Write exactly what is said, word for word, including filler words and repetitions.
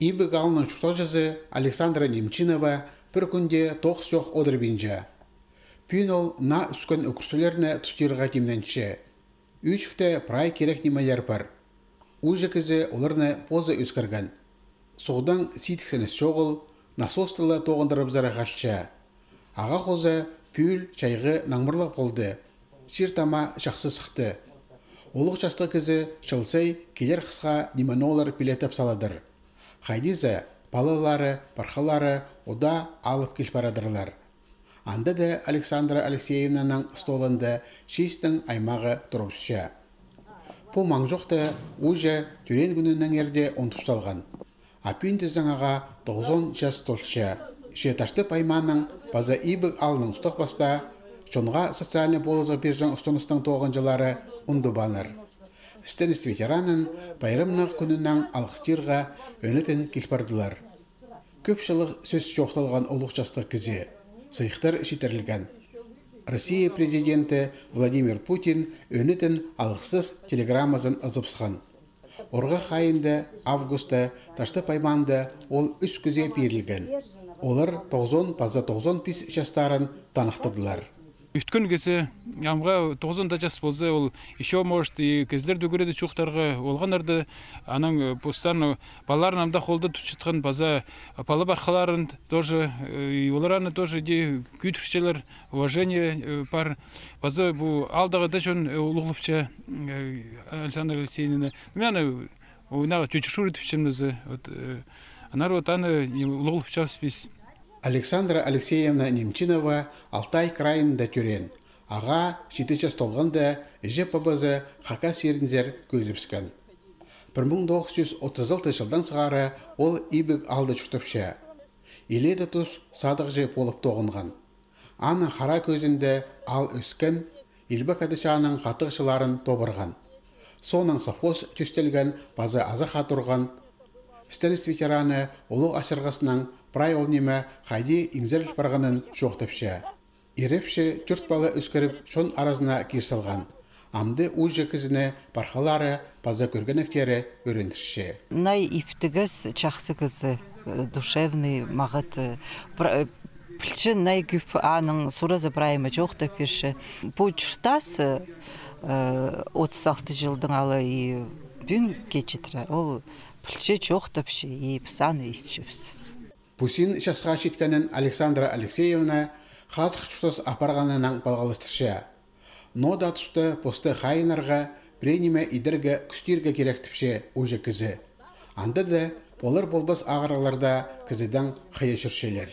Ибі ғалының чүсожызы Александра Немчинова бір күнде тоқс жоқ одыр бинжа. Пүйін ол на үскін өкірсілеріне тұстырға демненші. Үчікті прай керек немелер бар. Ұжы кізі оларны позы өскірген. Соғдан ситіксенес жоғыл, насостылы тоғындырып зары ғашча. Аға қозы пүйіл чайғы наңмырлық болды. Шертама жақсы сықты. Олық жастық кізі шылсай келер қысқа неманолар пилетіп саладыр. Хайдиза балалары, пархалары ода алып кел барадырлар. Анда да Александра Алексеевнаның столында шестің аймағы тұрыпша. По маңжоқты ұжы түрен күнінің ерде онтып салған. Апин тізіңаға тоғызон жас толша. Шеташты пайманың база ибік алының ұстық баста, шонға социальный болызы бержің ұстыныстың тоғынжылары ұнды баныр. Стенис ветеранын байрымнық күнінің алғыстырға өнетін келпардылар. Көпшілік сөз жоқталған олық жастық кізе, сыйықтар шетерлген. Россия президенті Владимир Путин өнетін алғысыз телеграммазын ызыпсыған. Орға қайынды августа ташты пайманды ол үш күзе берілген. Олар тоғызон паза тоғызон пис жастарын танықтырдылар. Үткін кесі амға тоғызонда жас болсы, ол еще может и кездер дүгіреді чуқтарға олғанарды аның постарны баларын амда қолды тұтшытқан база палы барқаларын тоже олараны тоже де күйтіршелер уважение бар база бұл алдағы да жөн ұлғылыпча Александр Алексеевна мен ойнаға түйчішур етіпшімізі анар отаны ұлғылыпча спес. Александра Алексеевна Немчинова Алтай крайында түрен. Аға шеті жас толғанда жеп бабызы хака серінзер көзіпскен. бір мың тоғыз жүз отыз алты жылдан сығары ол ибік алды жүктіпші. Иледі тұс садық жеп олып тоғынған. Аның қара көзінде ал өскен, илбі кәдішаның қатықшыларын тобырған. Соның сафос түстелген базы азы қатырған. Стенис ветераны олық ашырғысының прай ол неме қайди иңзеріл барғанын жоқтыпшы. Ерепші түрт балы өскіріп шон аразына керсалған. Амды ұжы кізіне барқалары база көргенектері өріндірші. Най иптігіз чақсы кізі, душевный мағыт. Пілчі най күп аның сұразы праймы жоқты перші. Бұл жұштасы отыз алты жылдың алы бүн кечітірі. Ол пілчі жоқтыпшы, и псаны істішіпсі. Пусин шасға шеткенін Александра Алексеевна қазық жұстас апарғанынан балғалыстыршы. Нода тұсты посты қайынарға прениме идіргі күстіргі керектіпші ұжы кізі. Анда да болыр болбас ағыраларда кізіден қия жүршелер.